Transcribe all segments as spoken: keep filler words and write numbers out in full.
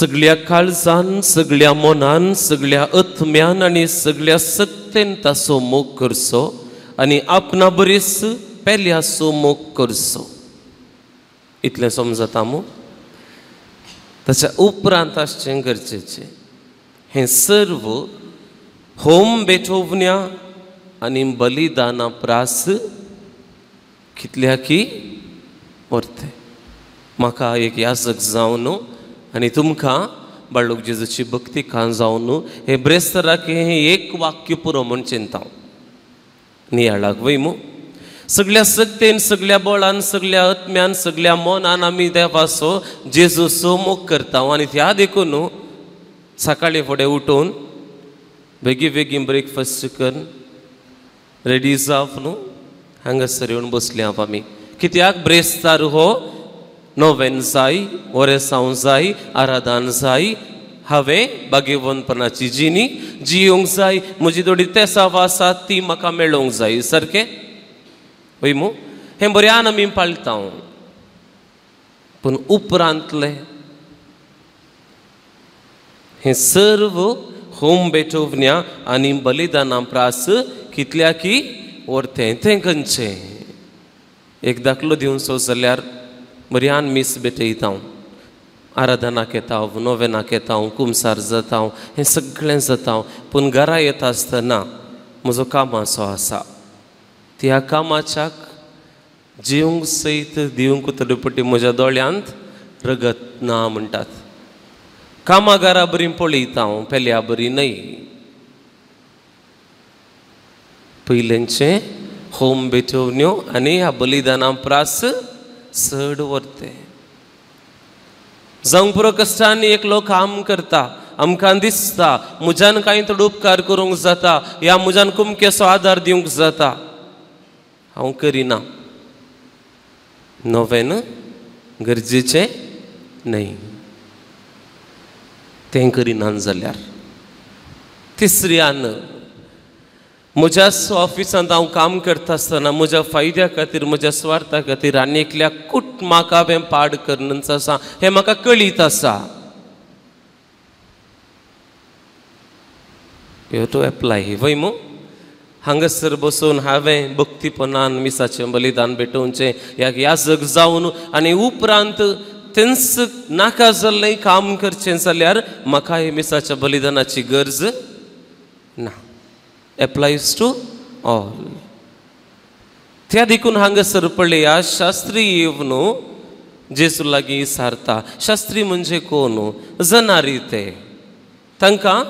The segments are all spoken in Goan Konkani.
सगळ्या काळजान, सगळ्या मनान, सगळ्या आत्म्यान आनी सगळ्या सक्तेन ताचो मोग करचो आनी आपणा बरीच पेल्याचो मोग करचो. इतलें समजता मू? ताच्या उपरांत आसचें गरजेचें हें सर्व होम भेटोवण्या आनी बलिदाना प्रास कितल्या की व्हरतें. म्हाका एक याजक जावन आनी तुमकां बाळूक जेजूची भक्ती खान जावन हे ब्रेस्तराक हें एक वाक्य पुरो म्हूण चिंता नियाळाक वय मू. सगळ्या सक्तेन, सगळ्या बळान, सगळ्या आत्म्यान, सगळ्या मनान आमी देवाचो जेजूचो मोग करता आनी त्या देखून सकाळीं फुडें उठून बेगीन बेगीन ब्रेकफास्ट कर रेडी जावप न्हू हांगासर येवन बसले हांव आमी. कित्याक ब्रेस्तार हो नोवेन जाय, ओरेसांव जाय, आराधन जाय, हांवें भाग्यवंतपणाची जिणी जियोंक जाय, म्हजी थोडी तेसाव आसा ती म्हाका मेळोवंक जाय. सारकें वय मू? हें बऱ्यान आमी पाळटा. पूण उपरांतलें हें सर्व होम भेटोवण्या आनी बलिदाना प्रास कितल्या की व्हरतें. तें खंयचें? एक दाखलो दिवचो जाल्यार बऱ्यान मीस भेटयता हांव, आराधनाक येता हांव, नोवेनाक येता हांव, कुमसार जाता हांव, हें सगळें जाता हांव. पूण घरा येता आसतना म्हजो कामाचो आसा, त्या कामाच्याक जिवंक सयत दिवंक थोडे पटी म्हज्या दोळ्यांत रगत ना म्हणटात. कामागारा बरी पळयता हांव, पेल्या बरी न्हय. पयलेंचें होम भेटोवण्यो आनी ह्या बलिदाना प्रास चड व्हरतें. जावंक पुरो कश्टांनी एकलो काम करता, आमकां दिसता म्हज्यान कांय थोडो उपकार करूंक जाता, ह्या म्हज्यान कुमकेसो आदार दिवंक जाता, हांव करिना. नोवेन गरजेचें न्हय, तें करिना जाल्यार. तिसऱ्यान म्हज्या ऑफिसांत हांव काम करता आसतना म्हज्या फायद्या खातीर, म्हज्या स्वार्था खातीर आनी एकल्या कुटुंबाक हांवें पाड करून आसा हें म्हाका कळीत आसा. You to apply वय मू? हांगासर बसून हांवें भक्तीपणान मिसाचें बलिदान भेटोवचें, ह्या याजक जावन आनी उपरांत तेंच नाका जाल्लें काम करचें जाल्यार म्हाका हे मिसाच्या बलिदानाची गरज ना. Applies to all. त्या देखून हांगासर पळया शास्त्री येवन जेजू लागीं सारता. शास्त्री म्हणजे कोण? जनारी. ते तांकां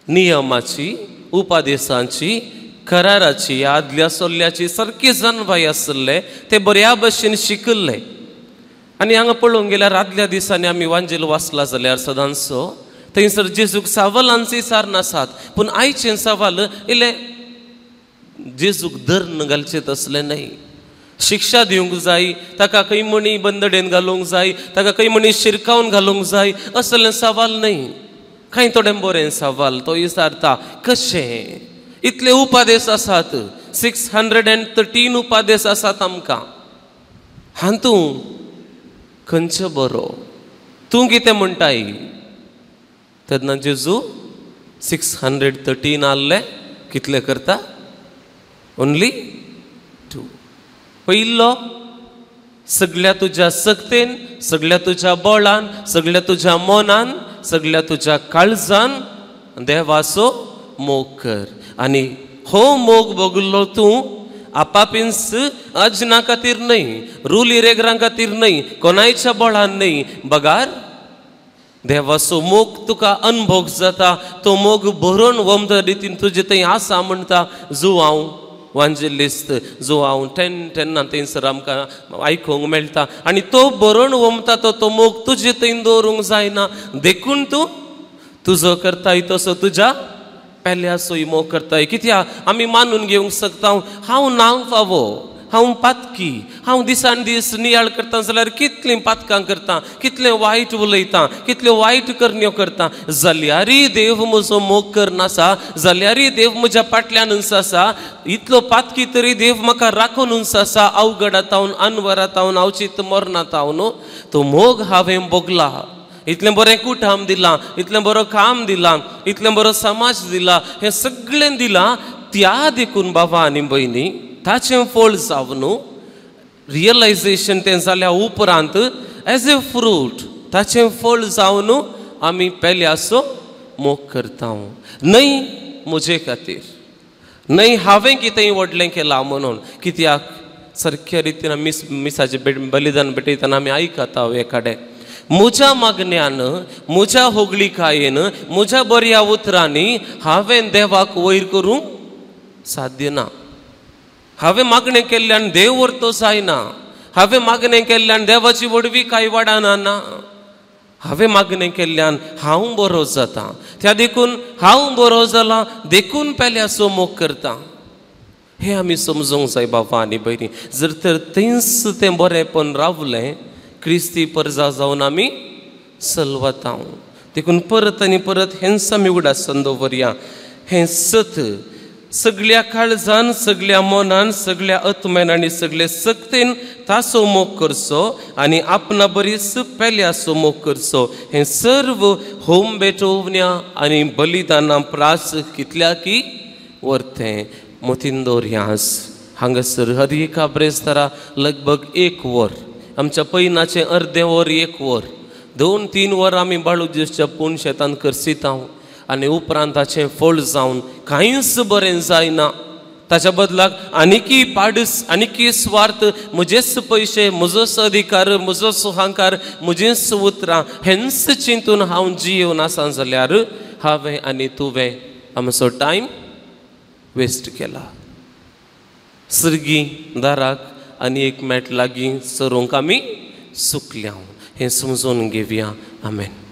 नियमाची, उपादेशांची, कराराची, आदल्या सोल्ल्याची सारकी जाणवाय आसले, ते बऱ्या भशेन शिकल्ले. आनी हांगा पळोवंक गेल्यार आदल्या दिसांनी आमी वांजेल वाचला जाल्यार सदांचो थंयसर जेजूक सवालांची सार नासात, पूण आयचें सवाल इल्लें जेजूक धरून घालचें तसलें न्हय. शिक्षा दिवंक जाय, ताका खंय म्हणी बंदडेन घालूंक जाय, ताका खंय म्हणी शिरकावन घालूंक जाय, असलें सवाल न्हय. कांय थोडें बरें सवाल तो विचारता कशें इतले उपादेश आसात, सिक्स हंड्रेड एंड थर्टीन उपादेश आसात आमकां, हातूं खंयचो बरो? तूं कितें म्हणटाय? तेन्ना जेजू सिक्स हंड्रेड थर्टीन आहले, कितले करता? Only two. पयलो सगळ्या तुज्या सक्तेन, सगळ्या तुज्या बळान, सगळ्या तुज्या मनान, सगळ्या तुज्या काळजान देवाचो मोग कर. आनी हो मोग भोगलो तूं आपापींस अजना खातीर न्हय, रुली रेगरां खातीर न्हय, कोणायच्या बळान न्हय, बगार देवाचो मोग तुका अनभोग जाता, तो मोग भरून वमद रितीन तुजे थंय आसा म्हणटा. जो हांव वांजेलिस्त, जो हांव टेन टेन्ना थंयसर आमकां आयकूंक मेळटा आनी तो भरून वमता तो तो मोग तुजे थंय दवरूंक जायना, देखून तूं तुजो करताय तसो तुज्या पेल्याचोय मोग करताय. कित्याक आमी मानून घेवंक शकता हांव नांव फावो, हांव पातकी, हांव दिसान दीस नियाळ करता जाल्यार कितलीं पातकां करता, कितलें वायट उलयता, कितल्यो वायट करण्यो करता, जाल्यारय देव म्हजो मोग करनासा, जाल्यारय देव म्हज्या फाटल्यान आसा, इतलो पातकी तरी देव म्हाका राखून आसा, अवघडातावन अनवरातावन अवचीत मरणातावन तो मोग हांवें भोगला. इतलें बरें कुटाम दिलां, इतलें बरो काम दिलां, इतलें बरो समाज दिला, हें सगळें दिलां. त्या देखून बाबा आनी भयणी ताचें फळ जावन रियलायजेशन तें जाल्या उपरांत एज ए फ्रूट ताचें फळ जावन आमी पेल्याचो मोग करता. न्हय म्हजे खातीर, न्हय हांवें कितेंय व्हडलें केलां म्हणून, कित्याक सारक्या रितीन मिस मिसाचें बलिदान भेटयतना आमी आयकता एकाडे म्हज्या मागण्यान, म्हज्या होगळिकायेन, म्हज्या बऱ्या उतरांनी हांवें देवाक वयर करूंक साध्य ना. हांवें मागणें केल्ल्यान देव व्हरतो जायना, हांवें मागणें केल्ल्यान देवाची व्हडविकाय वाडना ना, हांवें मागणें केल्ल्यान हांव बरो जाता. त्या देखून हांव बरो जाला देखून पेल्याचो मोग करता. हें आमी समजूंक जाय बाबा आनी भयणी. जर तर थंयच तें बरेंपण रावलें क्रिस्ती परजा जावन आमी सलवता. देखून परत आनी परत हेंच आमी उगडासान दवरया, हें सत सगळ्या काळजान, सगळ्या मनान, सगळ्या आत्म्यान आनी सगळे सक्तेन ताचो मोग करचो आनी आपणा बरीच पेल्याचो मोग करचो. हें सर्व होम भेटोवण्या आनी बलिदाना प्रास कितल्या की वरतें. मतीन दवरयास हांगासर हर एका ब्रेस्तारा लगभग एक वर, आमच्या पयनाचें अर्दें वर एक वर, दोन तीन वरां आमी बाळू जेजूच्या पूण शेतान करसिता आनी उपरांत ताचें फळ जावन कांयच बरें जायना. ताच्या बदलाक आनीकी पाडस, आनीकी स्वार्थ, म्हजेच पयशे, म्हजोच अधिकार, म्हजोच अहंकार, म्हजीच उतरां हेंच चिंतून हांव जियेवन आसा जाल्यार हांवें आनी तुवें आमचो टायम वेस्ट केला. सर्गी दाराक आनी एक मेट लागीं सरूंक आमी चुकल्या हें समजून घेवया. आमेन.